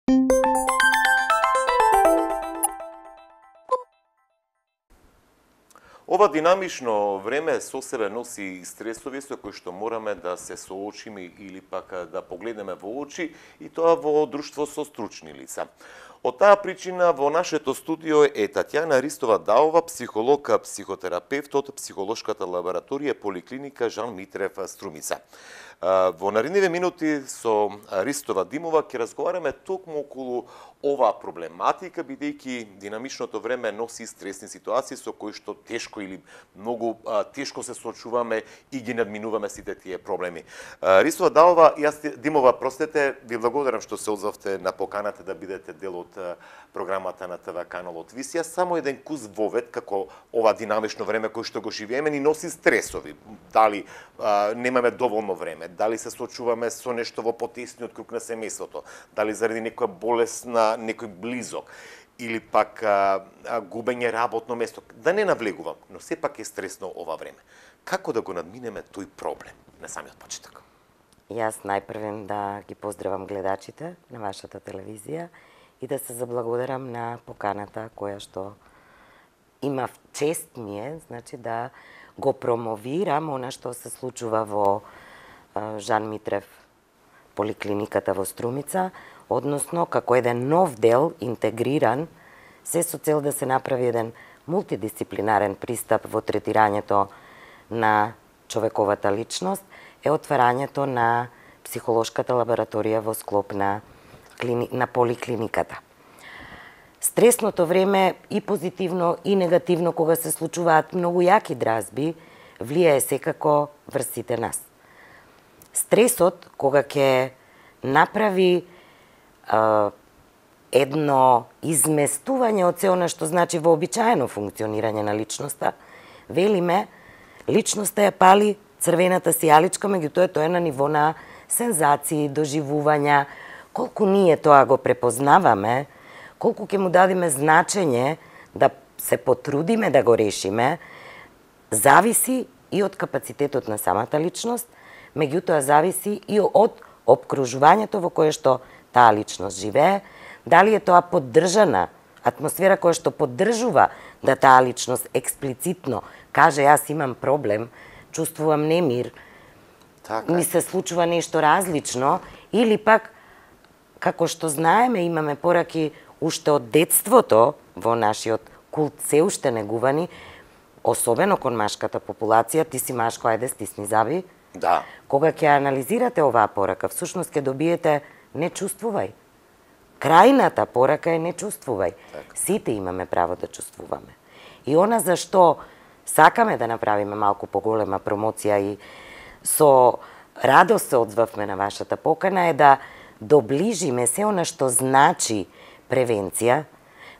Ова динамично време со себе носи стресови со кои што мораме да се соочиме или пак да погледнеме во очи, и тоа во друштво со стручни лица. Од таа причина во нашето студио е Татјана Ристова-Даова, психолог, психотерапевт од психолошката лабораторија Поликлиника Жан Митрев Струмица. Во наредниве минути со Ристова Димова ќе разговараме токму околу оваа проблематика, бидејќи динамичното време носи стресни ситуации со кои што тешко или многу тешко се соочуваме и ги надминуваме сите тие проблеми. Ристова Димова, простете, ви благодарам што се одзовте на поканата да бидете дел од програмата на ТВ каналот Висија. Само еден куз вовед како ова динамично време кој што го живееме ни носи стресови. Дали немаме доволно време, дали се соочуваме со нешто во потесниот круг на семејството, дали заради некоја болест на некој близок, или пак губење работно место. Да не навлегувам, но сепак е стресно ова време. Како да го надминеме тој проблем на самиот почеток? Јас најпрвен да ги поздравам гледачите на вашата телевизија и да се заблагодарам на поканата која што имав чест ми е, значи да го промовирам она што се случува во Жан Митрев Поликлиниката во Струмица, односно како еден нов дел интегриран, се со цел да се направи еден мултидисциплинарен пристап во третирањето на човековата личност, е отварањето на психолошката лабораторија во склоп на Поликлиниката. Стресното време и позитивно и негативно кога се случуваат многу јаки дразби, влијае секако врз сите нас. Стресот кога ќе направи едно изместување од се она што значи вообичаено функционирање на личноста, велиме, личноста ја пали црвената сијаличка, меѓутоа тоа е на ниво на сензации, доживувања. Колку ние тоа го препознаваме, колку ќе му дадеме значење да се потрудиме да го решиме, зависи и од капацитетот на самата личност, меѓутоа зависи и од обкружувањето во кое што таа личност живее, дали е тоа поддржана атмосфера која што поддржува да таа личност експлицитно каже јас имам проблем, чувствувам немир, ми се случува нешто различно, или пак, како што знаеме, имаме пораки уште од детството во нашиот култ се уште негувани, особено кон машката популација, ти си машко, ајде стисни заби. Да. Кога ќе анализирате оваа порака, всушност ќе добиете не чувствувај. Крајната порака е не чувствувај. Сите имаме право да чувствуваме. И она за што сакаме да направиме малку поголема промоција и со радост се одзвавме на вашата покана е да доближиме се она што значи превенција,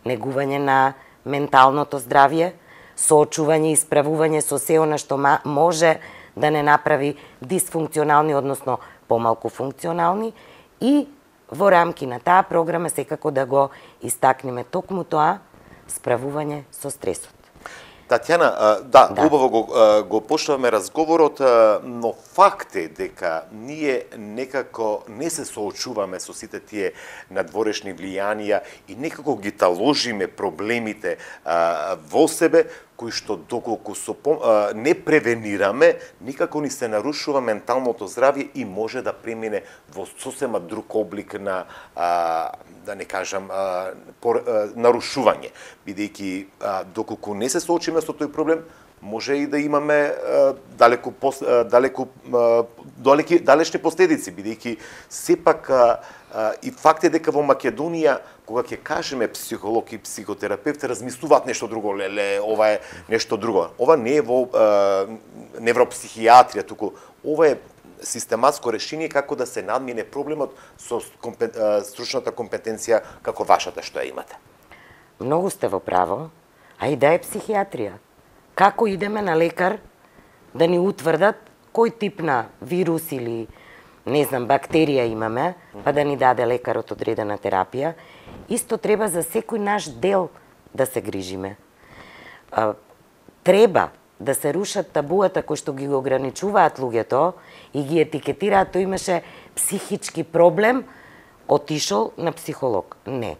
негување на менталното здравје, соочување и исправување со се она што може да не направи дисфункционални, односно помалку функционални, и во рамки на таа програма секако да го истакнеме токму тоа справување со стресот. Татјана, убаво го почнаваме разговорот, но факт е дека ние некако не се соочуваме со сите тие надворешни влијанија и некако ги таложиме проблемите во себе, кои што доколку не превенираме, никако ни се нарушува менталното здравје и може да премине во сосема друг облик на, да не кажам, нарушување. Бидејќи доколку не се соочиме со тој проблем, може и да имаме далечни последици, бидејќи сепак и факт е дека во Македонија, кога ќе кажеме психолог и психотерапевт, размислуваат нешто друго, леле, ова е нешто друго. Ова не е во невропсихијатрија, туку ова е систематско решение како да се надмине проблемот со стручната компетенција како вашата што ја имате. Многу сте во право, а и да е психијатрија. Како идеме на лекар да ни утврдат кој тип на вирус или не знам, бактерија имаме, па да ни даде лекарот одредена терапија. Исто треба за секој наш дел да се грижиме. Треба да се рушат табуата кои што ги ограничуваат луѓето и ги етикетираат, тој имаше психички проблем, отишол на психолог. Не.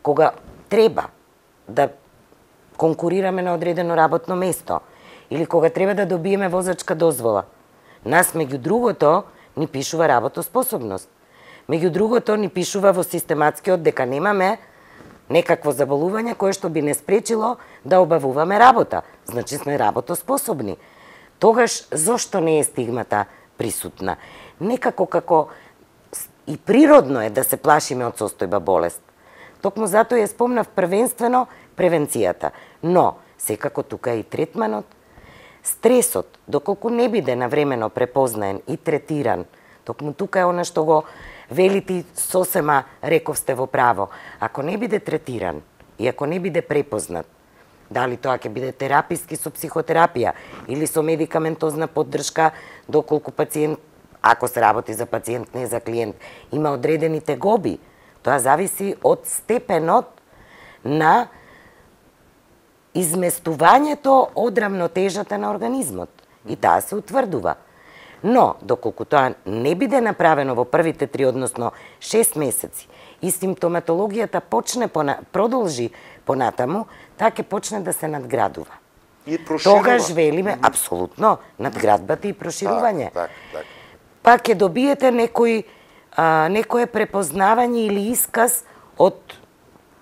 Кога треба да конкурираме на одредено работно место или кога треба да добиеме возачка дозвола, нас меѓу другото ни пишува работоспособност. Меѓу другото ни пишува во систематскиот дека немаме некакво заболување кое што би не спречило да обавуваме работа. Значи сме работоспособни. Тогаш зошто не е стигмата присутна? Некако како и природно е да се плашиме од состојба болест. Токму затоа ја спомнав првенствено превенцијата. Но, секако тука е и третманот. Стресот, доколку не биде навремено препознаен и третиран, токму тука е она што го велите сосема рековсте во право. Ако не биде третиран и ако не биде препознат, дали тоа ќе биде тераписки со психотерапија или со медикаментозна поддршка, доколку пациент, ако се работи за пациент, не за клиент, има одредени тегоби, тоа зависи од степенот на изместувањето од рамнотежата на организмот. И таа се утврдува. Но, доколку тоа не биде направено во првите 3, односно 6 месеци, и симптоматологијата продолжи понатаму, таа ќе почне да се надградува. И проширува. Тогаш велиме, апсолутно, надградбата и проширување. Так. Па ќе добиете некое препознавање или исказ од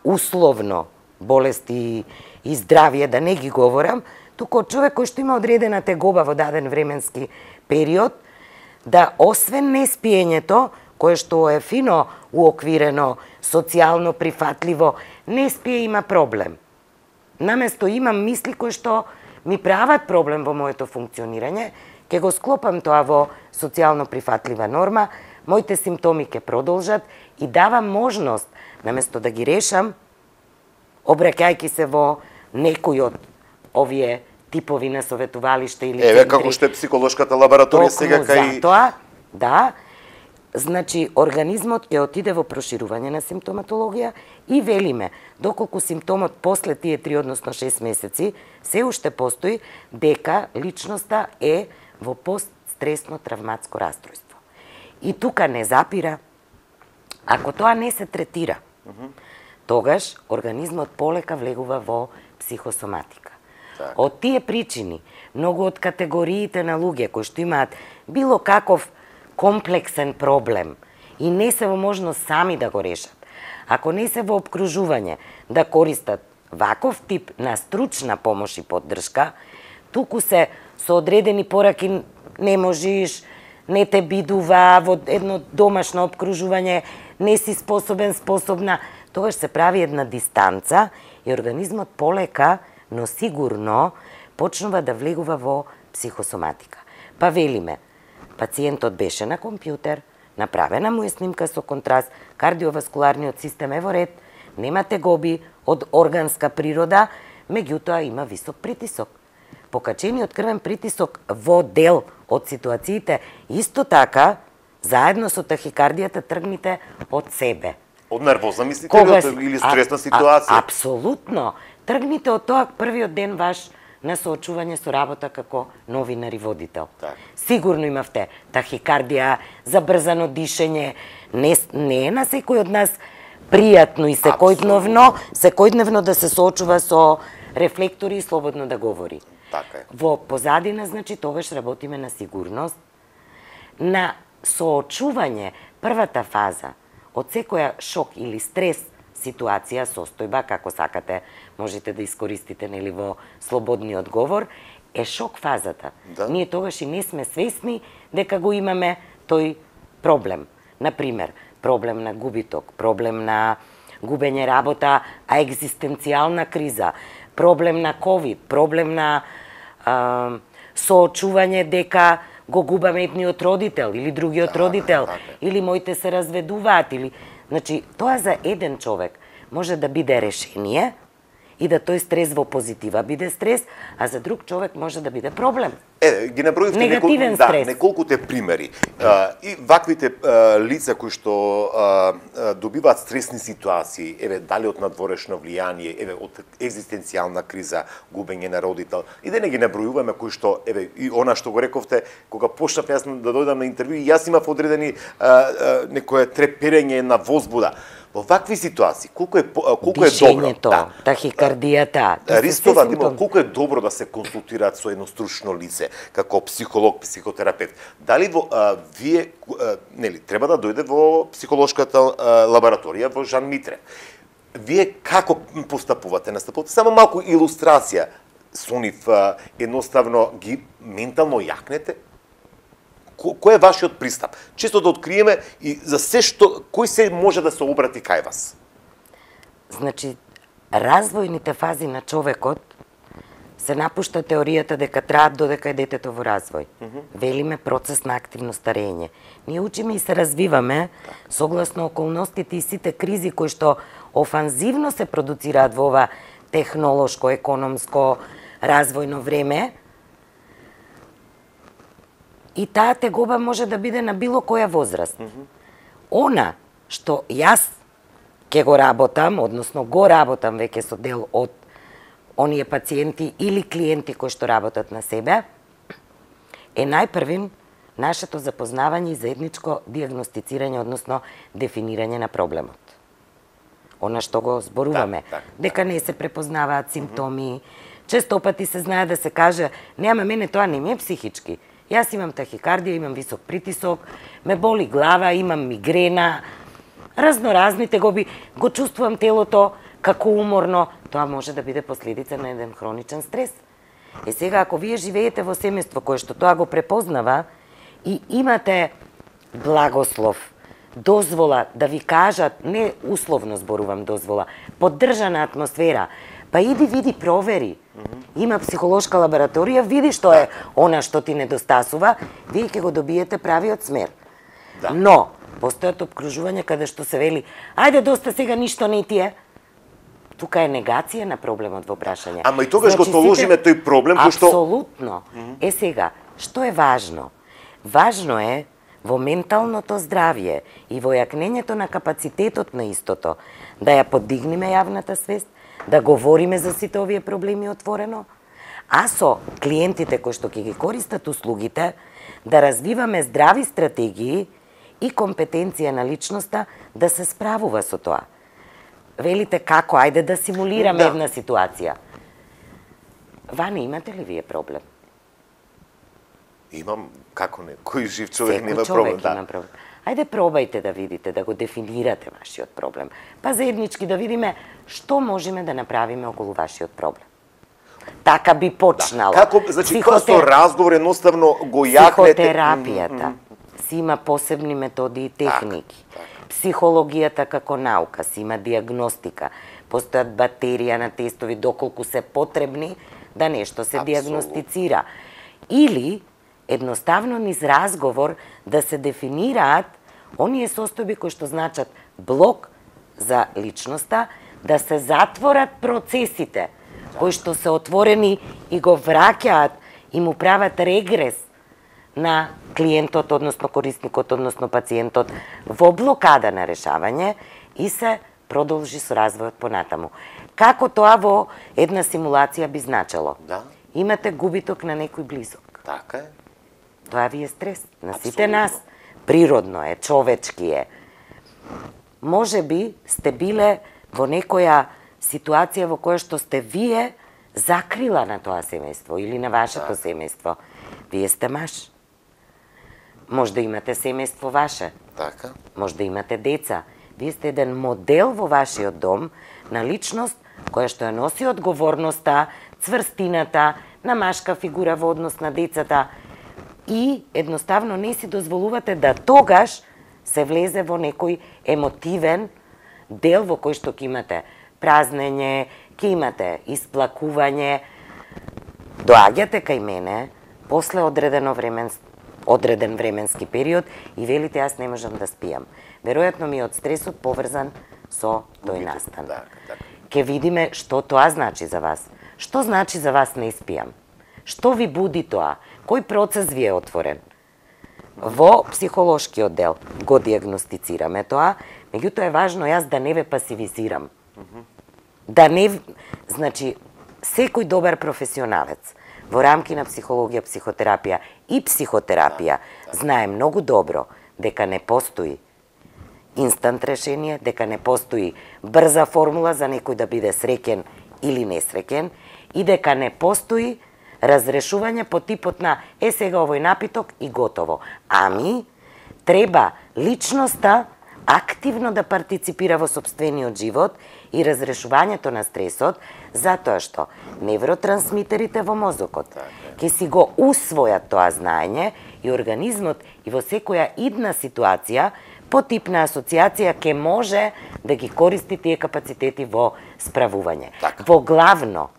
условно болести и здравје, да не ги говорам, туку од човек кој што има одредена тегоба во даден временски период, да освен неспиењето, кое што е фино уоквирено, социјално прифатливо, неспие има проблем. Наместо имам мисли кои што ми прават проблем во моето функционирање, ќе го склопам тоа во социјално прифатлива норма, моите симптоми ќе продолжат и давам можност, наместо да ги решам, обраќајќи се во некој од овие типови на советувалиште или центри. Како што е психолошката лабораторија сега кај... Затоа, да, значи организмот ќе отиде во проширување на симптоматологија и велиме, доколку симптомот после тие 3, односно 6 месеци, се уште постои, дека личноста е во постстресно травматско растројство. И тука не запира, ако тоа не се третира, тогаш организмот полека влегува во психосоматика. Од тие причини, многу од категориите на луѓе кои што имаат било каков комплексен проблем и не се во можност сами да го решат, ако не се во обкружување да користат ваков тип на стручна помош и поддршка, туку се со одредени пораки не можеш, не те бидува во едно домашно обкружување, не си способна, тогаш се прави една дистанца и организмот полека, но сигурно почнува да влегува во психосоматика. Па велиме, пациентот беше на компјутер, направена му е снимка со контраст, кардиоваскуларниот систем е во ред, нема тегоби од органска природа, меѓутоа има висок притисок. Покачениот крвен притисок во дел од ситуациите, исто така, заедно со тахикардијата тргните од себе. Од нервоза, мислите или стресна ситуација? Апсолутно. Тргните од тоа првиот ден ваш на соочување со работа како новинар и водител. Сигурно имавте тахикардија, забрзано дишење, не е на секој од нас пријатно и секојдневно да се соочува со рефлектори и слободно да говори. Така е. Во позадина, значи, тогаш работиме на сигурност, на соочување, првата фаза од секоја шок или стрес ситуација, состојба, како сакате, можете да искористите нели во слободниот говор, е шок фазата. Ние тогаш и не сме свесни дека го имаме тој проблем. Например, проблем на губиток, проблем на губење работа, а екзистенцијална криза, проблем на ковид, проблем на соочување дека го губаме едниот родител или другиот родител, или моите се разведуваат, или... Значи, тоа за еден човек може да биде решение и да тој стрес во позитива биде стрес, а за друг човек може да биде проблем. ги наброивте негативен стрес. неколкуте примери. И ваквите лица кои што добиваат стресни ситуации, дали од надворешно влијание, од екзистенцијална криза, губење на родител, и да не ги набројуваме кои што, и она што го рековте, кога почнав јас да дојдам на интервју, јас имав одредени некое треперење на возбуда. Во вакви ситуации, колку е добро, тахикардијата, рискова, колку е добро да се консултираат со едно стручно лице, како психолог, психотерапевт. Дали вие, треба да дојде во психолошката лабораторија во Жан Митре. Вие како постапувате? Настапувате само малку илустрација со нив, едноставно ги ментално јакнете? Кој е вашиот пристап? Често да откриеме и за се кој се може да се обрати кај вас? Значи, развојните фази на човекот се напушта теоријата дека траат додека е детето во развој. Велиме процес на активно старење. Ние учиме и се развиваме согласно околностите и сите кризи кои што офанзивно се продуцираат во ова технолошко, економско, развојно време. И таа тегоба може да биде на било која возраст. Она што јас ќе го работам, односно го работам веќе со дел од оние пациенти или клиенти кои што работат на себе, е најпрвин нашето запознавање и заедничко диагностицирање, односно дефинирање на проблемот. Она што го зборуваме, дека не се препознаваат симптоми, често пати се знае да се каже, нема мене тоа не ми е психички. Јас имам тахикардија, имам висок притисок, ме боли глава, имам мигрена, разноразни тегоби, го чувствувам телото како уморно, тоа може да биде последица на еден хроничен стрес. Сега, ако вие живеете во семејство кое што тоа го препознава и имате благослов, дозвола да ви кажат, не условно зборувам дозвола, поддржана атмосфера, па иди види провери. Има психолошка лабораторија, види што е она што ти недостасува, вие ќе го добиете правиот смер. Но, постојат обкружувања каде што се вели, ајде доста сега ништо не ти е. Тука е негација на проблемот во прашање. Ама и тогаш го толожиме тој проблем кој што... Апсолутно. Сега, што е важно? Важно е во менталното здравје и во јакнењето на капацитетот на истото да ја подигнеме јавната свест, да говориме за сите овие проблеми отворено, а со клиентите кои што ќе ги користат услугите, да развиваме здрави стратегии и компетенција на личноста да се справува со тоа. Велите како, ајде да симулираме една ситуација. Ване, имате ли вие проблем? Имам, како не, кој жив човек Секој нема човек проблем, има проблем. Ајде пробајте да видите, да го дефинирате вашиот проблем. Па заеднички да видиме што можеме да направиме околу вашиот проблем. Така би почнало. Како, значи, со разговор едноставно го јакнете... Психотерапијата си има посебни методи и техники. Психологијата како наука си има диагностика. Постојат батерија на тестови доколку се потребни да нешто се диагностицира. Или едноставно низ разговор да се дефинираат оние состојби кои што значат блок за личноста, да се затворат процесите кои што се отворени и го враќаат и му прават регрес на клиентот, односно корисникот, односно пациентот во блокада на решавање и се продолжи со развојот понатаму. Како тоа во една симулација би значело? Имате губиток на некој близок. Така е. Тоа ви е стрес. На сите нас. Природно е, човечки е. Може би сте биле во некоја ситуација во која што сте вие закрила на тоа семејство или на вашето семејство. Вие сте маж. Може да имате семејство ваше. Така. Може да имате деца. Вие сте еден модел во вашиот дом на личност која што ја носи одговорноста, цврстината, на машка фигура во однос на децата и едноставно не си дозволувате да тогаш се влезе во некој емотивен дел во кој што ќе имате празнење, ќе имате исплакување. Доаѓате кај мене после одреден временски период и велите јас не можам да спијам. Веројатно ми е од стресот поврзан со тој настан. Ке видиме што тоа значи за вас. Што значи за вас не спијам? Што ви буди тоа? Кој процес ви е отворен? Во психолошкиот дел го диагностицираме тоа, меѓутоа е важно јас да не ве пасивизирам. Да не... Значи, секој добар професионалец во рамки на психологија, психотерапија и психотерапија знае многу добро дека не постои инстант решение, дека не постои брза формула за некој да биде среќен или несреќен и дека не постои разрешување по типот на сега овој напиток и готово. Ами, треба личноста активно да партиципира во сопствениот живот и разрешувањето на стресот, затоа што невротрансмитерите во мозокот ќе си го усвојат тоа знаење и организмот и во секоја идна ситуација по тип на асоциација ќе може да ги користи тие капацитети во справување. Во главно,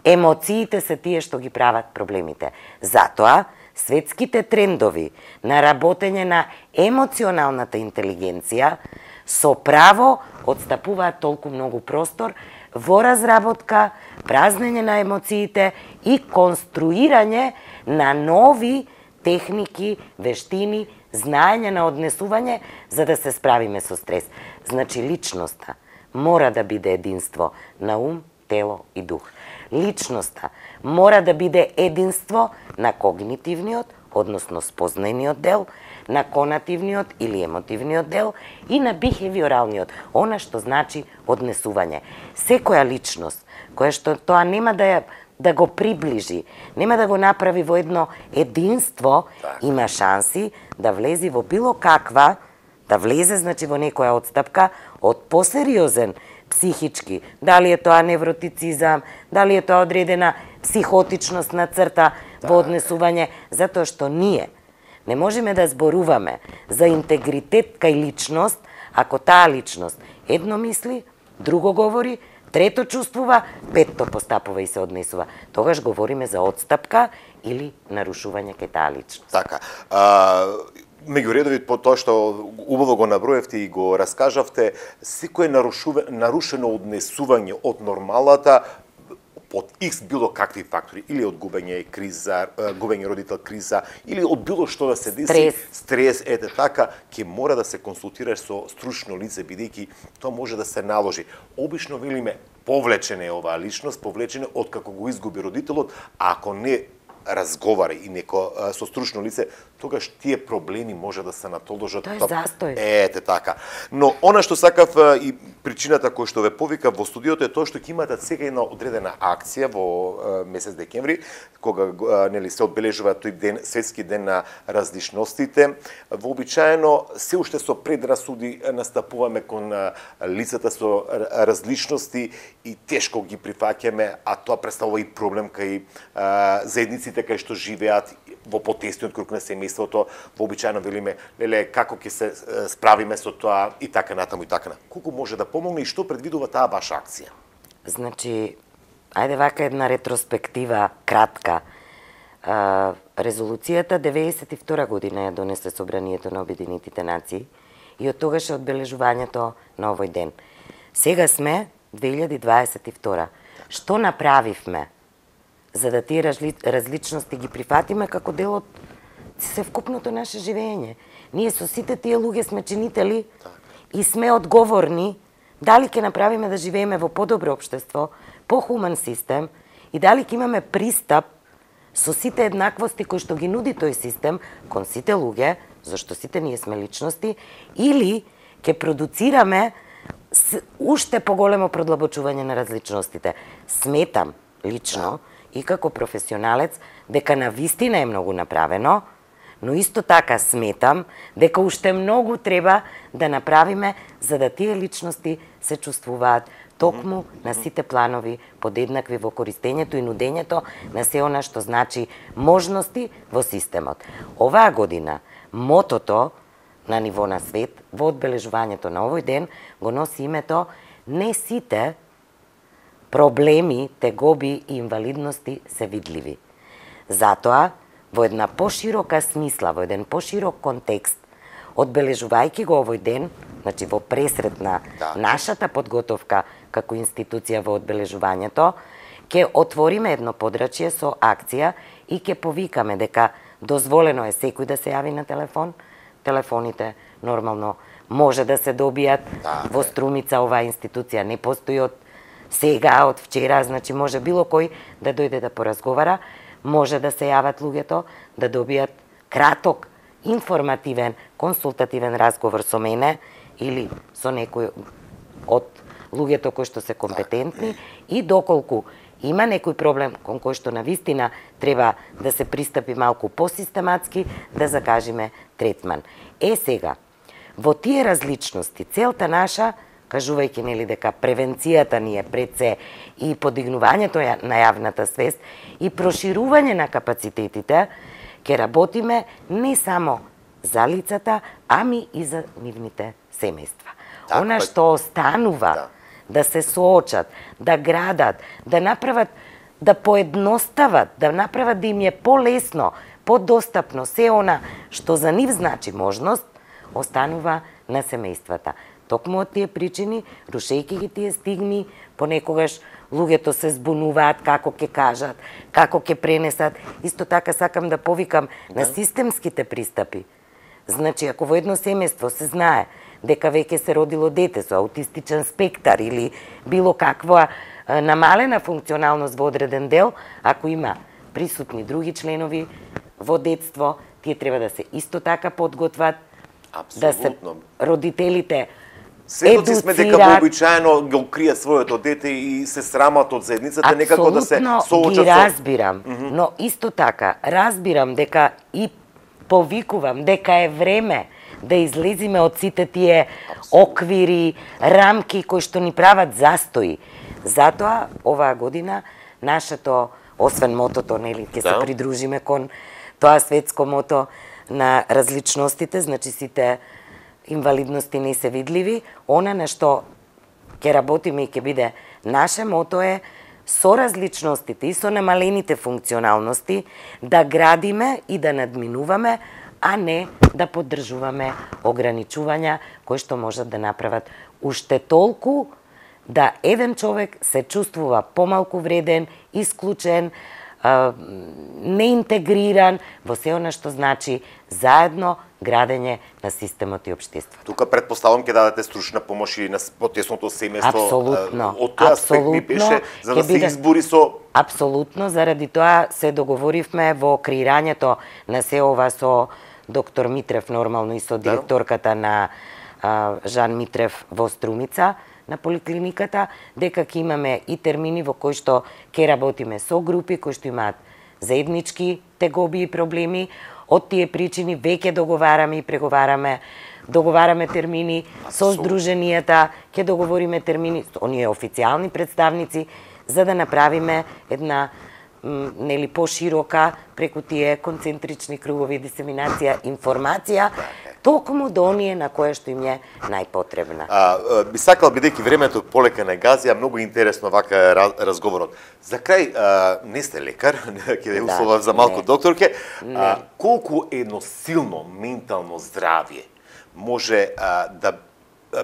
емоциите се тие што ги прават проблемите. Затоа, светските трендови на работење на емоционалната интелигенција со право отстапуваат толку многу простор во разработка, празнење на емоциите и конструирање на нови техники, вештини, знаење на однесување за да се справиме со стрес. Значи, личноста мора да биде единство на ум, тело и дух. Личноста мора да биде единство на когнитивниот, односно спознајниот дел, на конативниот или емотивниот дел и на бихевиоралниот, она што значи однесување. Секоја личност, која што тоа нема да го приближи, нема да го направи во едно единство, има шанси да влезе во било каква, да влезе, значи, во некоја отстапка од посериозен психички, дали е тоа невротицизам, дали е тоа одредена психотичност на црта во однесување, затоа што ние не можеме да зборуваме за интегритет кај личност, ако таа личност едно мисли, друго говори, трето чувствува, петто постапува и се однесува. Тогаш говориме за отстапка или нарушување кај таа личност. Така. Меѓу редови, по тоа што убаво го наброевте и го раскажавте, секое нарушено однесување од нормалата од X било какви фактори, или од губење криза, губење родител криза, или од било што да се деси, стрес, ете така, ќе мора да се консултираш со стручно лице, бидејќи тоа може да се наложи. Обично велиме, повлечена е оваа личност, повлечена од како го изгуби родителот, а ако не разговара и неко со стручно лице, тогаш тие проблеми може да се натоложат. Тоа е застој. Ете така. Но она што сакав и причината која што ве повика во студиото е тоа што ќе имате сега една одредена акција во месец декември, кога нели се одбележува тој ден, светски ден на различностите. Вообичаено се уште со предрасуди настапуваме кон лицата со различности и тешко ги прифаќаме, а тоа представува и проблем кај заедниците кај што живеат во потесниот круг на семејството, вообичаено велиме, леле, како ќе се справиме со тоа и така натаму и така. Колку може да помогне и што предвидува таа ваша акција? Значи, ајде вака една ретроспектива кратка. Резолуцијата 92 година ја донесе Собранието на Обединетите нации и од тогаш е одбележувањето на овој ден. Сега сме 2022. Што направивме за да тие различности ги прифатиме како дел од севкупното наше живење? Ние со сите тие луѓе сме чинители и сме одговорни дали ќе направиме да живееме во подобро општество, похуман систем и дали ќе имаме пристап со сите еднаквости кои што ги нуди тој систем кон сите луѓе, зашто сите ние сме личности, или ќе продуцираме уште поголемо продлабочување на различностите. Сметам лично и како професионалец дека навистина е многу направено, но исто така сметам дека уште многу треба да направиме за да тие личности се чувствуваат токму на сите планови подеднакви во користењето и нудењето на се она што значи можности во системот. Оваа година мотото на ниво на свет во одбележувањето на овој ден го носи името "Не сите проблеми, тегоби и инвалидности се видливи". Затоа, во една поширока смисла, во еден поширок контекст, одбележувајќи го овој ден, значи во пресрет на нашата подготовка како институција во одбележувањето, Ке отвориме едно подрачје со акција и ке повикаме дека дозволено е секој да се јави на телефон. Телефоните нормално може да се добијат. Во Струмица оваа институција не постои од сега, од вчера, значи може било кој да дојде да поразговара, може да се јават луѓето, да добијат краток, информативен, консултативен разговор со мене или со некој од луѓето кои што се компетентни и доколку има некој проблем кон кој што навистина треба да се пристапи малку посистематски, да закажеме третман. Сега, во тие различности, целта наша, кажувајќи нели дека превенцијата ни е пред се и подигнувањето на јавната свест и проширување на капацитетите, ќе работиме не само за лицата, ами и за нивните семејства. Она што останува да се соочат, да градат, да направат, да поедностават, да направат да им е полесно, подостапно се она што за нив значи можност, останува на семејствата. Токму од тие причини, рушејќи ги тие стигми, понекогаш луѓето се збунуваат како ќе кажат, како ќе пренесат. Исто така сакам да повикам на системските пристапи. Значи, ако во едно семејство се знае дека веќе се родило дете со аутистичен спектар или било каква намалена функционалност во одреден дел, ако има присутни други членови во детство, тие треба да се исто така подготват, да се родителите Светоци сме дека вообичаено го кријат своето дете и се срамат од заедницата, некако да се соочат со... Апсолутно ги разбирам, но исто така разбирам дека и повикувам дека е време да излезиме од сите тие оквири, рамки кои што ни прават застои. Затоа оваа година нашето, освен мотото, нели, ќе се придружиме кон тоа светско мото на различностите, значи сите инвалидности не се видливи, она на што ќе работиме и ќе биде наше мото е со различностите и со намалените функционалности да градиме и да надминуваме, а не да поддржуваме ограничувања кои што можат да направат уште толку да еден човек се чувствува помалку вреден, исклучен, неинтегриран во се она што значи заедно градење на системот и општеството. Тука предпоставам ќе дадете стручна помош и на потесното семејство. Апсолутно. Од тој аспект ми беше за да се избори со... Апсолутно, заради тоа се договоривме во креирањето на се ова со доктор Митрев нормално и со директорката на Жан Митрев во Струмица, на поликлиниката, дека ќе имаме и термини во кои што ќе работиме со групи кои што имаат заеднички тегоби и проблеми. Од тие причини веќе договараме и преговараме, договараме термини со здруженијата, ќе договориме термини со оние официјални представници за да направиме една нели поширока преку тие концентрични кругови дисеминација информација токму до оние на кое што им е најпотребна. Би сакал, бидејќи времето полека не гази, многу интересно вака разговорот. За крај, не сте лекар, ќе ве условам за малку докторке, колку едно силно ментално здравје може да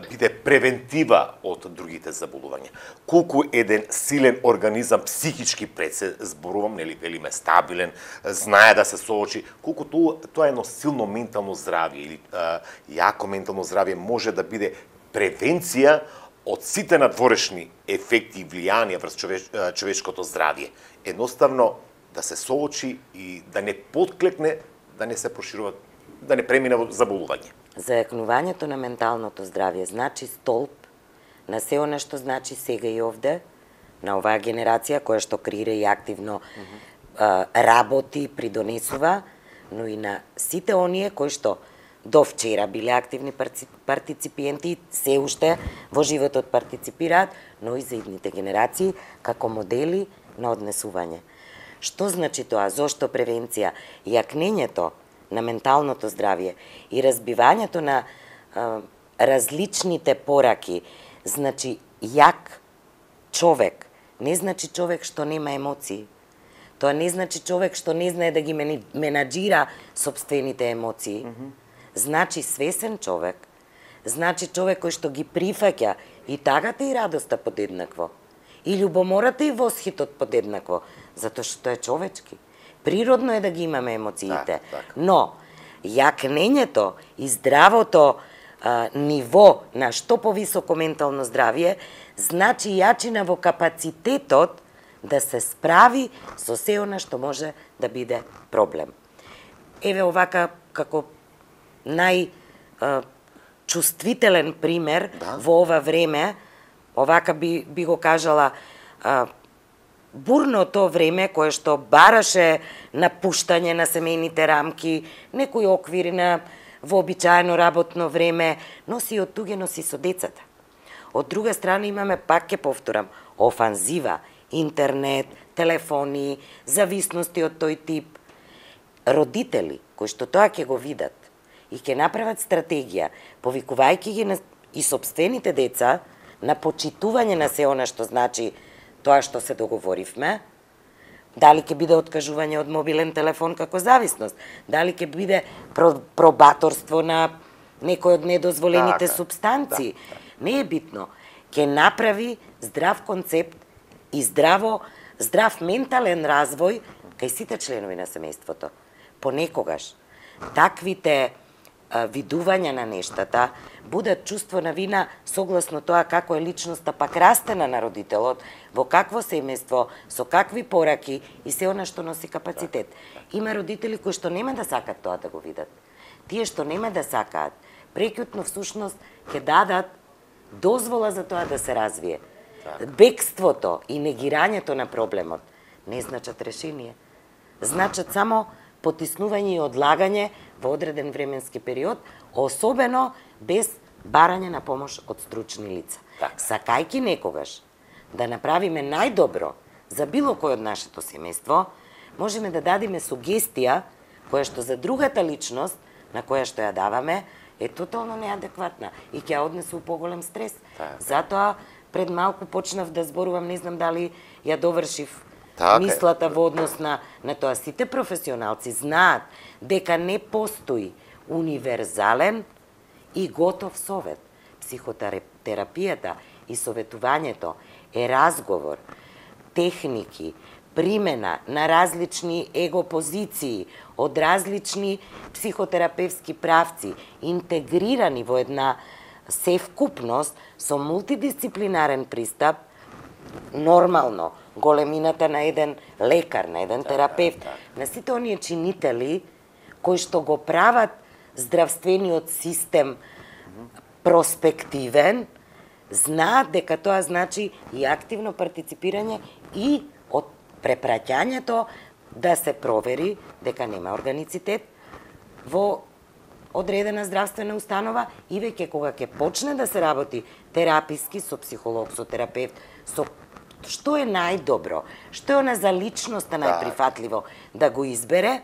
биде превентива од другите заболувања. Колку еден силен организам психички пред се зборувам, нели велиме стабилен, знае да се соочи, колку тоа едно силно ментално здравје или јако ментално здравје може да биде превенција од сите надворешни ефекти и влијанија врз човечкото здравје. Едноставно да се соочи и да не подклекне, да не се проширува, да не премине во заболување. Зајакнувањето на менталното здравје значи столб на се она што значи сега и овде, на оваа генерација која што креира и активно работи, придонесува, но и на сите оние кои што до вчера биле активни партиципиенти, се уште во животот партиципираат, но и за идните генерации како модели на однесување. Што значи тоа? Зошто превенција? Јакнењето на менталното здравје и разбивањето на различните пораки, значи јак човек, не значи човек што нема емоции. Тоа не значи човек што не знае да ги менаџира сопствените емоции. Значи свесен човек, значи човек кој што ги прифаќа и тагата и радоста подеднакво. И љубомората и восхитот подеднакво, затоа што е човечки. Природно е да ги имаме емоциите, но јакнењето и здравото ниво на што повисоко ментално здравје значи јачина во капацитетот да се справи со се она што може да биде проблем. Еве овака како чувствителен пример во ова време, овака би го кажала, бурното време кое што бараше напуштање на семејните рамки, некои оквири на вообичаено работно време, носи од туѓе, носи со децата. Од друга страна имаме, пак ќе повторам, офанзива, интернет, телефони, зависности од тој тип. Родители кои што тоа ќе го видат и ќе направат стратегија, повикувајќи ги и сопствените деца на почитување на се она што значи тоа што се договоривме, дали ќе биде откажување од мобилен телефон како зависност, дали ќе биде пробаторство на некој од недозволените супстанции. Не е битно. Ќе направи здрав концепт и здрав ментален развој кај сите членови на семејството. Понекогаш таквите видувања на нештата будат чувство на вина согласно тоа како е личноста пак растена на родителот, во какво семејство, со какви пораки и се она што носи капацитет. Има родители кои што нема да сакат тоа да го видат. Тие што нема да сакаат, прекјутно всушност ќе дадат дозвола за тоа да се развие. Бегството и негирањето на проблемот не значат решение. Значат само потиснување и одлагање во одреден временски период, особено без барање на помош од стручни лица. Сакајки некогаш да направиме најдобро за било кој од нашето семејство, можеме да дадеме сугестија која што за другата личност на која што ја даваме е тотално неадекватна и ќе ја однесе у поголем стрес. Затоа пред малку почнав да зборувам, не знам дали ја довршив мислата во однос на тоа. Сите професионалци знаат дека не постои универзален и готов совет. Психотерапијата и советувањето е разговор, техники, примена на различни его позиции од различни психотерапевски правци, интегрирани во една севкупност со мултидисциплинарен пристап, нормално, големината на еден лекар, на еден терапевт, на сите оние чинители кои што го прават здравствениот систем проспективен, знаат дека тоа значи и активно партиципирање и од препраќањето да се провери дека нема органицитет во одредена здравствена установа и веќе кога ќе почне да се работи тераписки со психолог, со терапевт, со што е најдобро, што е она за личноста најприфатливо да го избере,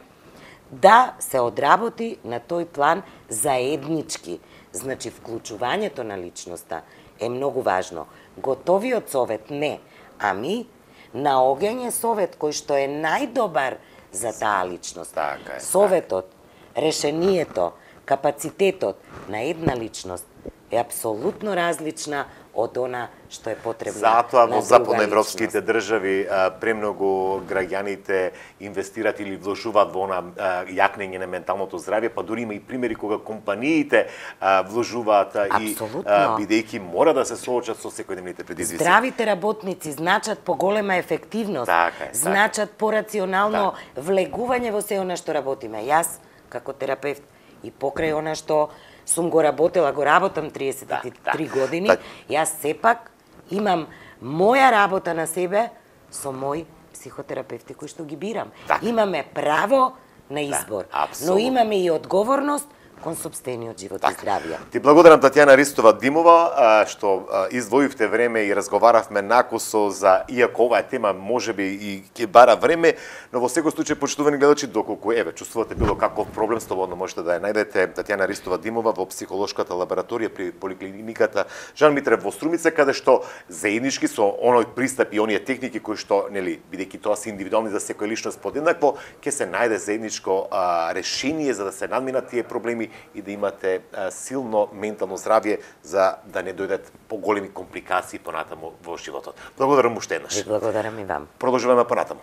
да се одработи на тој план заеднички. Значи, вклучувањето на личноста е многу важно. Готовиот совет не, ами наоѓање совет кој што е најдобар за таа личност. Советот, решението, капацитетот на една личност е апсолутно различна од она што е потребно. Затоа во западноевропските држави премногу граѓаните инвестираат или вложуваат во она јакнење на менталното здравје, па дури има и примери кога компаниите вложуваат и бидејќи мора да се соочат со секојдневните предизвици. Здравите работници значат поголема ефективност, значат порационално влегување во се она што работиме. Јас како терапевт и покрај она што сум го работела, го работам 33 години, јас сепак имам моја работа на себе со мои психотерапевти кои што ги бирам. Имаме право на избор, но имаме и одговорност кон сопствениот живот и здравје. Ти благодарам, Татјана Ристова Димова, што издвоивте време и разговаравме накусо за, иако оваа тема можеби и ќе бара време, но во секој случај, почитувани гледачи, доколку чувствувате било каков проблем, слободно можете да ја најдете Татјана Ристова Димова во психолошката лабораторија при поликлиниката Жан Митрев во Струмица, каде што заеднички со оној пристап и оние техники кои што, бидејќи тоа се индивидуални за секој личност подеднакво, ќе се најде заедничко решение за да се надминат тие проблеми спокојни и да имате силно ментално здравје за да не дојдат поголеми компликации понатаму во животот. Благодарам уште еднаш. Благодарам и вам. Продолжуваме понатаму.